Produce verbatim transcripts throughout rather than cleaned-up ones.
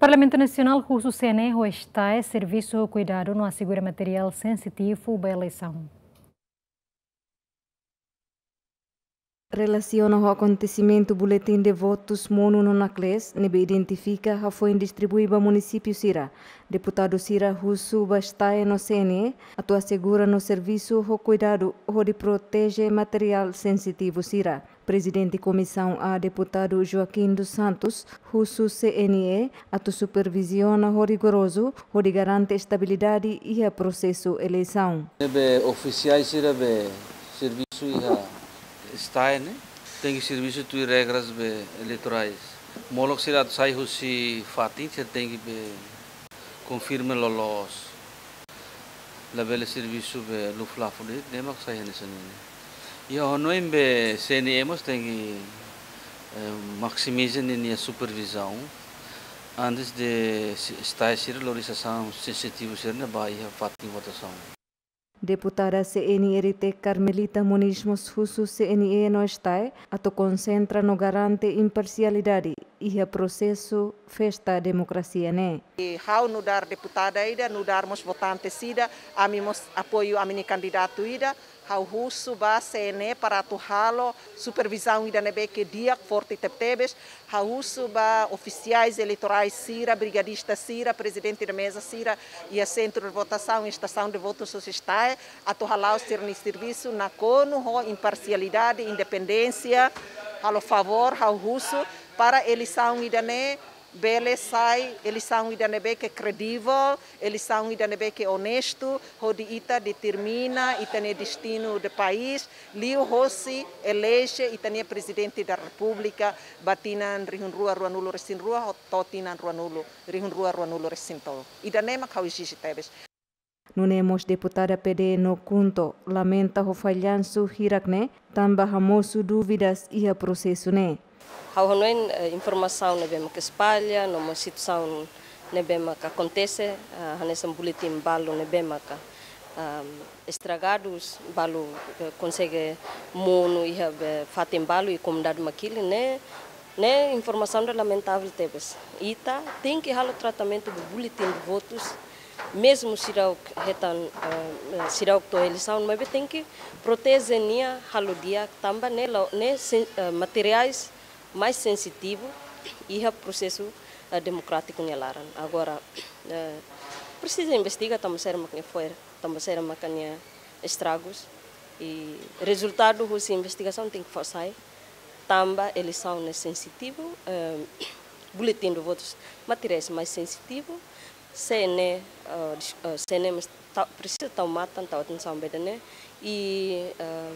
Parlamentu Nasionál husu C N E ho STAE servisu ho kuidadu no asegura materiál sensitivu ba eleisaun. Relasiona ho akontesimentu buletin de votus monu no naklees ne'ebé identifika hafoin distribui ba munisípiu sira, deputadu sira husu ba STAE no C N E atu asegura no servisu ho kuidadu hodi proteje materiál sensitivu sira. Prezidente Komisaun A, deputadu Joaquim dos Santos, husu C N E atu superviziona ho rigorozu hodi garante estabilidade iha prosesu eleisaun. Ne'ebé ofisiais sira be servisu iha STAE ne'e, tenke servisu tuir regras be eleitorais. Molok sira atu sai husi fatin sira tenke be konfirma loloos. Labele servisu be luafuli de'it, ne'e mak sai hanesan ne'e. Iha hanoin be C N E mós tenke, eh, maximiza ninia supervizaun antes de si-, STAE sira lori sasán sensitivu sira ne'e ba iha fatin votasaun. Deputada C N R T Carmelita Moniz mós husu C N E no STAE atu konsentra no garante imparsialidade iha prosesu festa demokrasia ne'e. I ha'u nu'udar deputada ida, nu'udar mós votante sira, ami mós apoiu ami-nia kandidatu ida, ha'u husu ba C N E para atu halo supervizaun ida ne'ebé ke di'ak, forte tebetebes, ha'u husu ba ofisiais eleitorais sira, brigadista sira, prezidente da meza sira, iha sentru de votasaun, estasaun de votus husi STAE, atu hala'o sira-nia servisu nakonu ho imparsialidade, independénsia, halo favór, ha'u husu, para eleisaun ida-ne'e bele sai eleisaun ida ne'ebé ke kredivel, eleisaun ida ne'ebé ke onestu, hodi ita determina ita-nia destinu de país, liuhosi eleje ita-nia Prezidente da Repúblika, ba tinan rihun rua ruanulu resin rua, ho-, to'o tinan ruanulu, rihun rua ruanulu resin tolu. Ida-ne'e mak ha'u ezije tebes. Nune'e mós deputada P D no KHUNTO lamenta ho fallansu hirak ne'e, tanba hamosu dúvidas iha prosesu ne'e. Ha'u hanoin, eh, informasaun ne'ebé maka espalla, no mós situasaun ne'ebé maka akontese, ah, hanesan buletin balu ne'ebé maka, ah, estragadus, balu, eh, konsege monu iha be fatin balu i komunidade mak hili ne'e, ne'e informasaun ida lamentavel tebes. Ita tenke halo tratamentu be buletin de votus, mezmu seidauk hetan, eh, seidauk to'o eleisaun, maibé tenke proteje nia halo di'ak tanba ne'e la'o, ne'e sen-, eh, materiais mais sensitivu iha prosesu, eh, demokrátiku nia laran. Agora, eh, presiza investiga tanba saida mak nia fo'er, tanba saida mak nia estragus. I rezultadu husi investigasaun tenke fó sai, tanba eleisaun ne'e sensitivu, eh, buletin de votus, materiais mais sensitivu, C N E, eh, dis-, eh, C N E mós ta-, presiza tau matan, tau atensaun ba ida-ne'e, i, eh,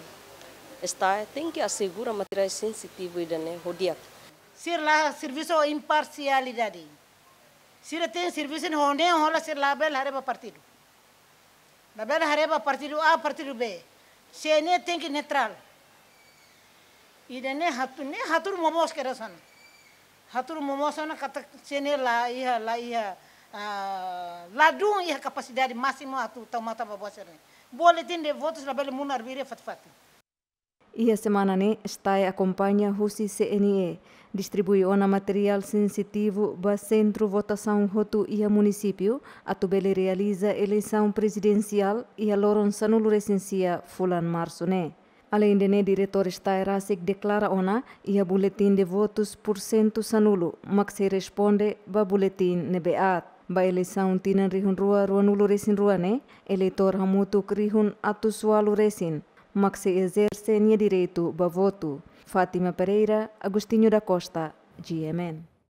STAE tenke asegura materiais sensitivu ida-ne'e ho di'ak. Sira la servisu ho imparsialidade. Sira tenke servisu ho ne'e, hola sira labele haree ba partidu. Labele haree ba partidu A, partidu B. C N E tenke neutrál. Ida-ne'e hatu-, ne'e hatudu momoos kedas ona. Hatudu momoos ona katak C N E la iha, la iha, ah, ladún iha kapasidade másimu atu tau matan ba buat sira-ne'e. Buletin de votus labele monu arbiru iha fatin-fatin. Iha semana ne'e, STAE akompaña husi C N E distribui ona materiál sensitivu ba sentru votasaun hotu iha munisípiu, atu bele realiza eleisaun prezidensiál iha loron sanulu resin sia fulan Marsu ne'e. Aleinde ne'e, diretór STAE rasik deklara ona, iha buletin de votus pursentu sanulu mak sei responde ba buletin ne'ebé aat. Ba eleisaun tinan rihun rua ruanulu resin rua ne'e, eleitór hamutuk rihun atus ualu resin mak sei ezerse nia direitu ba votu. Fátima Pereira, Agostinho da Costa, G M N.